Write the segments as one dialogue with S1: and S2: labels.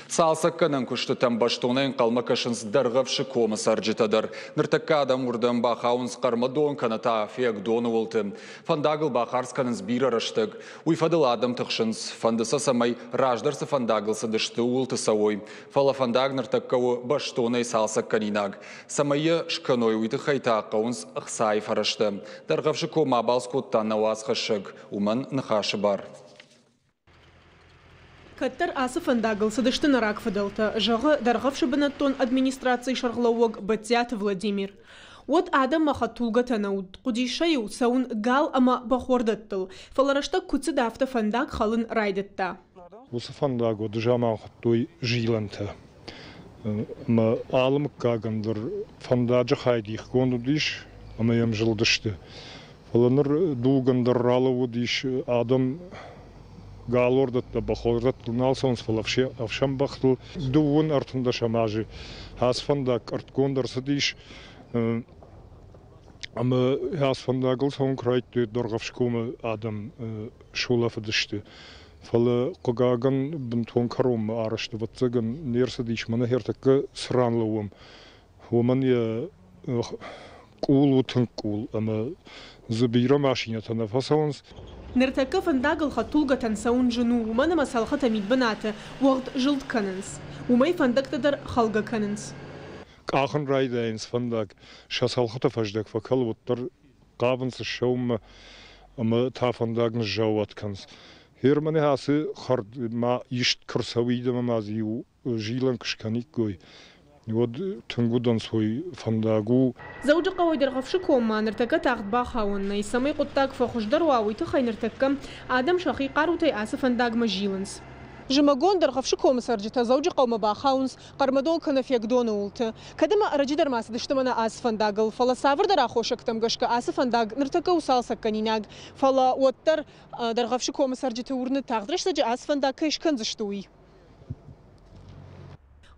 S1: Цалцӕггӕнӕн куыстытӕм бӕстонӕй ӕнхъӕлмӕ кӕсынц Дӕргъӕвсы комы цӕрджытӕ дӕр. Ныртӕккӕ адӕм уырдӕм бахауынц Хъӕрмӕдон кӕнӕ та Фиагдоны уылты. Фӕндагыл бахардз кӕнынц бирӕ рӕстӕг. Уый фӕдыл адӕм тыхсынц. Фӕнды сӕ, цӕмӕй раздӕр цы фӕндагыл цыдысты, ууылты цӕуой. Фӕлӕ фӕндаг ныртӕккӕ у бӕстонӕй цалцӕггӕнинаг. Цӕмӕй йӕ скӕной, уый тыххӕй та хъӕуынц ӕхцайы фӕрӕзтӕ. Дӕргъӕвсы коммӕ абалц кодта нӕ уацхӕссӕг. Уымӕн ныхасы бар.
S2: Кӕддӕр ацы фӕндагыл цыдысты нӕ рагфыдӕлтӕ, зӕгъы Дӕргъӕвсы бынӕттон администрацийы сӕргълӕууӕг Бӕдтиаты Владимир. Уӕд адӕммӕ хӕдтулгӕтӕ нӕ уыд, хъуыдис сӕ-иу цӕуын гал ӕмӕ бӕхуӕрдӕттыл, фӕлӕ рӕстӕг куыд цыд, афтӕ фӕндаг хӕлын райдыдта.
S3: Уыцы фӕндаг уӕды заман хуыдтой зилӕнтӕ. Ӕмӕ алы мыггагӕн дӕр фӕндаджы хай дихгонд уыдис ӕмӕ йӕм зылдысты. Фӕлӕ ныр дуг ӕндӕр ралӕууыдис, адӕм галуӕрдӕттӕ, бӕхуӕрдӕттыл нал цӕуынц, фӕлӕ ӕфсӕн бӕхтыл. Дыууын ӕртындӕсӕм азы ацы фӕндаг къӕртгонд ӕрцыдис ӕмӕ ацы фӕндагыл цӕуын куы райдыдтой, Дӕргъӕвсгомы адӕм сулӕфыдысты. Фӕлӕ, хъыгагӕн, бынтон кӕронмӕ арӕзт, ӕвӕццӕгӕн, не рцыдис, мӕнӕ ӕртӕккӕ цы ран лӕууӕм, уымӕн йӕ къул у тынг къул ӕмӕ дзы бирӕ машинӕтӕ нӕ фӕцӕуынц.
S2: Ныртӕккӕ фӕндагыл хӕдтулгӕтӕн цӕуын зын у, уымӕн ӕмӕ цӕлхытӕ мидбынаты уӕгъд зылд кӕнынц. Уымӕй фӕндӕгтӕ дӕр хӕлгӕ кӕнынц.
S3: Къахын райдайынц фӕндаг, сӕ цӕлхыты фӕздӕг фӕкӕлы, уӕддӕр хъавынц ссӕуынмӕ ӕмӕ та фӕндаг ныззаууат кӕнынц. Германы ацы хӕрд ма ист куы рцӕуид ӕмӕ ма дзы иу зилӕн куы скӕниккой, уӕд тынг удӕнцой фӕндаг у.
S2: Дзӕуджыхъӕуӕй Дӕргъӕвсы коммӕ ныртӕккӕ тагъд бахауӕн нӕй. Цӕмӕй хъуыддаг фӕхуыздӕр уа, уый тыххӕй ныртӕккӕ адӕм сӕхи хъарутӕй ацы фӕндагмӕ зилынц. Зымӕгон Дӕргъӕвсы комы цӕрджытӕ Дзӕуджыхъӕумӕ бахауынц Хъӕрмӕдон кӕнӕ Фегдоны уылты. Кӕд ӕмӕ ӕрӕджы дӕр ма цыдысты мӕнӕ ацы фӕндагыл, фӕлӕ цавӕрдӕр аххосӕгтӕм гӕсгӕ ацы фӕндаг ныртӕккӕ у цалцӕггӕнинаг. Фӕлӕ уӕддӕр Дӕргъӕвсы комы цӕрджыты уырны, тагъд рӕстӕджы ацы фӕндаг кӕй скӕндзысты, уый.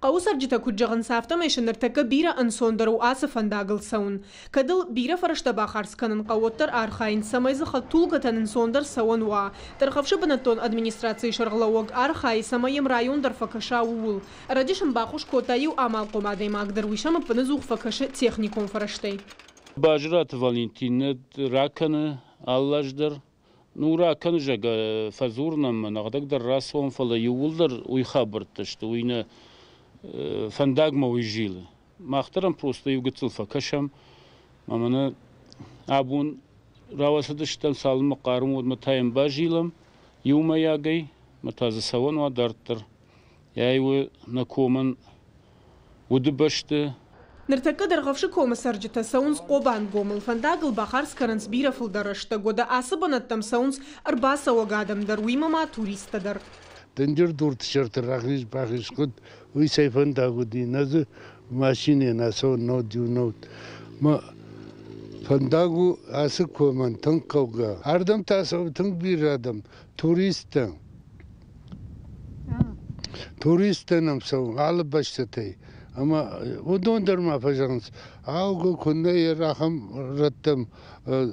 S2: Хъӕуы цӕрджытӕ куыд зӕгъынц, афтӕмӕй сӕ ныртӕккӕ бирӕ ӕнцондӕр у ацы фӕндагыл цӕуын. Кӕд ыл бирӕ фӕрӕзтӕ бахардз кӕнын хъӕуы, уӕддӕр архайынц, цӕмӕй дзы хӕдтулгӕтӕн ӕнцондӕр цӕуӕн уа. Дӕргъӕвсы бынӕттон администрацийы сӕргълӕууӕг архайы, цӕмӕй йӕм район дӕр фӕкӕса, ууыл. Ӕрӕджы сын баххуыс кодта иу амалхъом адӕймаг дӕр, уый сӕм ӕппынӕдзух фӕкӕсы техникон фӕрӕзтӕй.
S4: Базыраты Валентин нӕ ракӕны алы аз дӕр. Ну, ракӕны, зӕгъгӕ, фӕдзурын ӕмӕ нӕхӕдӕг дӕр рацӕуӕм, фӕлӕ иууылдӕр уый хабӕрттӕ сты, уый нӕ фӕндагмӕ уый зилы. Мах дӕр ӕм просто иу гыццыл фӕкӕсӕм ӕмӕ нӕ абон рауацыдыстӕм, цалынмӕ хъарм уӕдмӕ та йӕм базилӕм иумӕйагӕй, ӕмӕ та дзы цӕуӕн уа дарддӕр. Ай у нӕ комӕн удыбӕсты.
S2: Ныртӕккӕ Дӕргъӕвсы комы цӕрджытӕ цӕуынц Хъобангомыл. Фӕндагыл бахардз кӕнынц бирӕ фылдӕр рӕстӕг. Уӕдӕ ацы бынӕттӕм цӕуынц ӕрбацӕуӕг адӕм дӕр, уыимӕ ма туристтӕ дӕр.
S5: Дынджыр дурты сӕрты рахиз-бахиз куыд, уый цӕй фӕндаг уыди, нӕ дзы машинӕ нӕ цӕуы нод иу нод. Мӕ фӕндаг у ацы комӕн тынг хъӕугӕ. Ардӕм та цӕуы тынг бирӕ адӕм, туристтӕ. Туристтӕ нӕм цӕуы алы бӕстӕтӕй. Ӕмӕ уыдон дӕр ма фӕзӕгъынц, аугӕ куыннӕ йӕ ахӕм рӕттӕм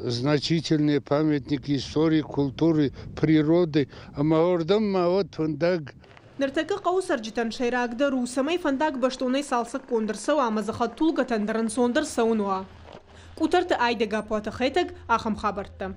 S5: значительные памятники истории, культуры, природы, ӕмӕ уырдӕм ма уӕд фӕндаг.
S2: Ныртӕккӕ хъӕуы цӕрджытӕн сӕйрагдӕр у, цӕмӕй фӕндаг бӕстонӕй цалцӕггонд ӕрцӕуа ӕмӕ дзы хӕдтулгӕтӕн дӕр ӕнцондӕр цӕуын уа. Къутӕрты Айдӕг Апуаты Хетӕг, ахӕм хабӕрттӕ.